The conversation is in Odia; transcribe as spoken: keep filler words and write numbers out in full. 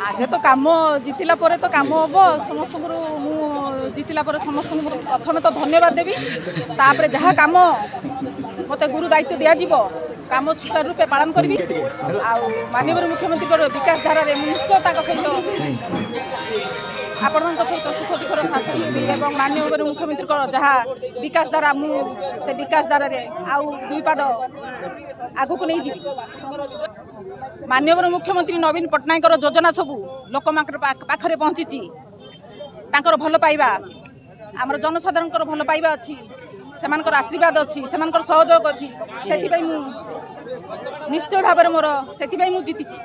ଆଗେ ତ କାମ ଜିତିଲା ପରେ ତ କାମ ହେବ। ସମସ୍ତଙ୍କର ମୁଁ ଜିତିଲା ପରେ ସମସ୍ତଙ୍କୁ ମୁଁ ପ୍ରଥମେ ତ ଧନ୍ୟବାଦ ଦେବି, ତାପରେ ଯାହା କାମ ମୋତେ ଗୁରୁ ଦାୟିତ୍ୱ ଦିଆଯିବ କାମ ସୁଚାରୁ ରୂପେ ପାଳନ କରିବି। ଆଉ ମାନ୍ୟବର ମୁଖ୍ୟମନ୍ତ୍ରୀଙ୍କର ବିକାଶ ଧାରାରେ ମୁଁ ନିଶ୍ଚୟ ତାଙ୍କ ସହିତ, ଆପଣଙ୍କ ସହିତ ସୁଖ ଦୁଃଖର ସାଥୀ ହେବି ଏବଂ ମାନ୍ୟବର ମୁଖ୍ୟମନ୍ତ୍ରୀଙ୍କର ଯାହା ବିକାଶ ଧାରା, ମୁଁ ସେ ବିକାଶ ଧାରାରେ ଆଉ ଦୁଇ ପାଦ ଆଗକୁ ନେଇଯିବି। ମାନ୍ୟବର ମୁଖ୍ୟମନ୍ତ୍ରୀ ନବୀନ ପଟ୍ଟନାୟକଙ୍କର ଯୋଜନା ସବୁ ଲୋକମାନଙ୍କର ପାଖରେ ପହଞ୍ଚିଛି। ତାଙ୍କର ଭଲ ପାଇବା, ଆମର ଜନସାଧାରଣଙ୍କର ଭଲ ପାଇବା ଅଛି, ସେମାନଙ୍କର ଆଶୀର୍ବାଦ ଅଛି, ସେମାନଙ୍କର ସହଯୋଗ ଅଛି, ସେଥିପାଇଁ ମୁଁ ନିଶ୍ଚୟ ଭାବରେ ମୋର ସେଥିପାଇଁ ମୁଁ ଜିତିଛି।